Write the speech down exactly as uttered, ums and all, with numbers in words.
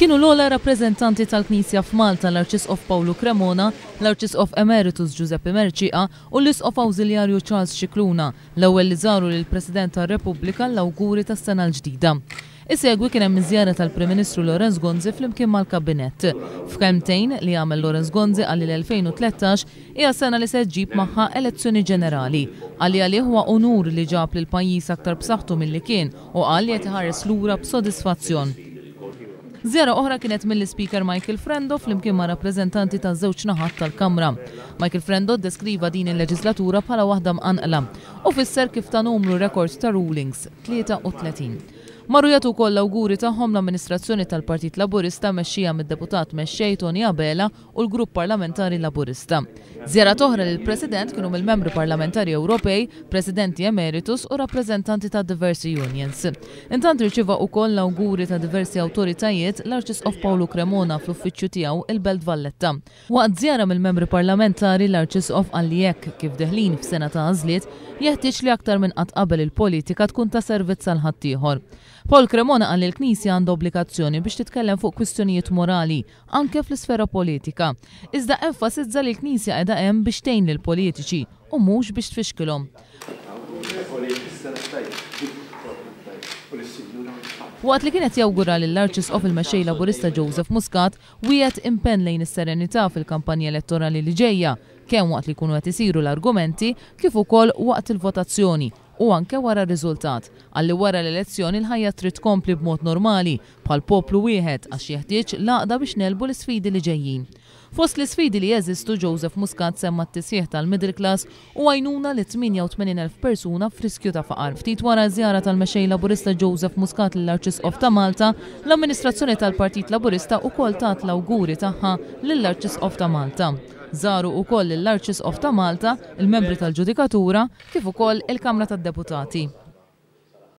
Kienu l-ogħla rappreżentanti tal-Knisja f'Malta, l-Arċisqof Pawlu Cremona, l-Arċisqof Emeritus Giuseppe Mercieca u l-Isqof Awżiljarju Charles Scicluna, l-ewwel li żaru lill-President tar-Repubblika l-awguri tas-sena l-ġdida. Isegwi kien hemm iż-żjara tal-Prim Ministru Lawrence Gonzi flimkien mal-Kabinett. F'kelmtejn li għamel Lawrence Gonzi qal li l-elfejn u tlettax hija sena li se ġġib magħha elezzjoni ġenerali. Qal li għalih huwa unur li ġab lil pajjiż aktar b'saħħtu milli kien u qal li qed iħares lura b'sodisfazzjon. Żjara oħra kienet mill-Ispeaker Michael Frendo flimkien ma' rappreżentanti ta' żewġ naħat tal-Kamra. Michael Frendo ddeskriva din il-leġislatura bħala waħda mqanqla u fisser kif ta' numru rekord ta' rulings, tlieta u tletin. Marru jagħtu wkoll l-awguri tagħhom l-amministrazzjoni tal-Partit Laburista mexxija mid-deputat mexxej Tony Abela u l-Grupp Parlamentari Laburista. Żjarat oħra lill-President kienu mill-membri parlamentari Ewropej, presidenti emeritus u rappreżentanti ta' diversi unions. Intant irċieva wkoll l-awguri ta' diversi awtoritajiet l-Arċisqof Pawlu Cremona fl-uffiċċju tiegħu il-Belt Valletta. Waqt żjara mill-membri parlamentari l-Arċisqof qal li hekk kif deħlin f'sena ta' għażliet jeħtieġ li aktar minn qatt qabel il-politika tkun ta' servizz għal ħaddieħor. Paul Cremona qal li l-Knisja għandha obbligazzjoni biex titkellem fuq kwistjonijiet morali anke fl-isfera politika. Iżda enfasizza li l-Knisja qiegħda hemm biex tgħin lill-politiċi u mhux biex tfixkilhom. Waqt li kienet jawgura lill-Arċisqof il-Mexxej Laburista Joseph Muscat wiegħed impenn lejn is-serenità fil-kampanja elettorali li ġejja, kemm waqt li jkunu qed isiru l-argumenti kif ukoll waqt il-votazzjoni u anke wara r-riżultat. Qal li wara l-elezzjoni l-ħajja trid tkompli b'mod normali bħal poplu wieħed għax jeħtieġ l-għaqda biex nelbu l-isfidi li ġejjin. Fost l-isfidi li jeżistu Joseph Muscat semma t-tisħiħ tal-middle class u għajnuna li tmienja u tmenin elf persuna f'riskju ta' faqar. Ftit wara żjara tal-Mexxej Laburista Joseph Muscat lill-Arċisqof ta' Malta, l-amministrazzjoni tal-Partit Laburista wkoll tat l-awguri tagħha lill-Arċisqof ta' Malta. Żaru wkoll lill-Arċisqof ta' Malta, il-membri tal-Ġudikatura, kif ukoll il-Kamra tad-Deputati.